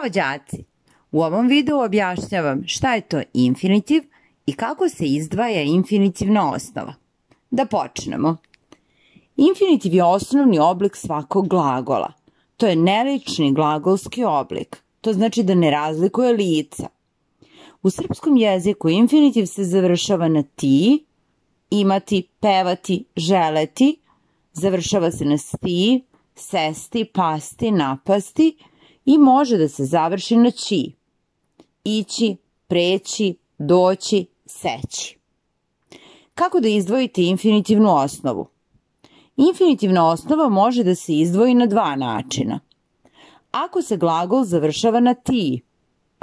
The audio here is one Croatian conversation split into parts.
Zdravo đaci! U ovom videu objašnjavam šta je to infinitiv i kako se izdvaja infinitivna osnova. Da počnemo. Infinitiv je osnovni oblik svakog glagola. To je nelični glagolski oblik. To znači da ne razlikuje lica. U srpskom jeziku infinitiv se završava na ti, imati, pevati, želeti, završava se na sti, sesti, pasti, napasti i može da se završi na ći. Ići, preći, doći, seći. Kako da izdvojite infinitivnu osnovu? Infinitivna osnova može da se izdvoji na dva načina. Ako se glagol završava na ti,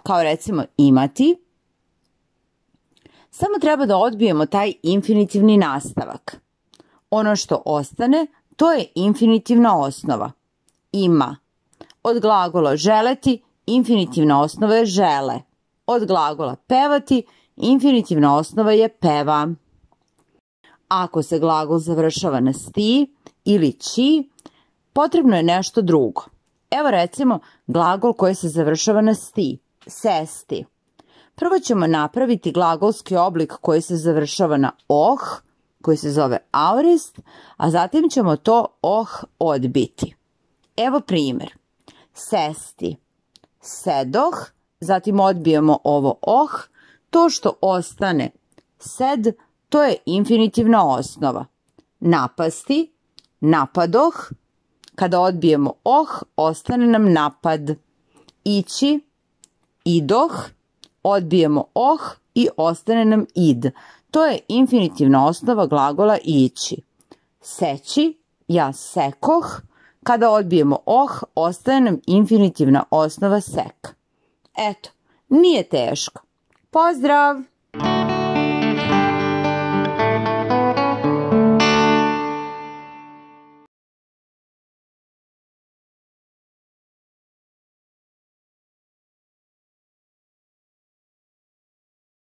kao recimo imati, samo treba da odbijemo taj infinitivni nastavak. Ono što ostane, to je infinitivna osnova. Ima. Od glagola želeti, infinitivna osnova je žele. Od glagola pevati, infinitivna osnova je peva. Ako se glagol završava na sti ili ći, potrebno je nešto drugo. Evo recimo glagol koji se završava na sti, sesti. Prvo ćemo napraviti glagolski oblik koji se završava na oh, koji se zove aorist, a zatim ćemo to oh odbiti. Evo primjer. Sesti, sedoh, zatim odbijemo ovo oh, to što ostane sed, to je infinitivna osnova. Napasti, napadoh, kada odbijemo oh, ostane nam napad. Ići, idoh, odbijemo oh i ostane nam id. To je infinitivna osnova glagola ići. Seći, ja sekoh, kada odbijemo oh, ostaje nam infinitivna osnova sek. Eto, nije teško. Pozdrav!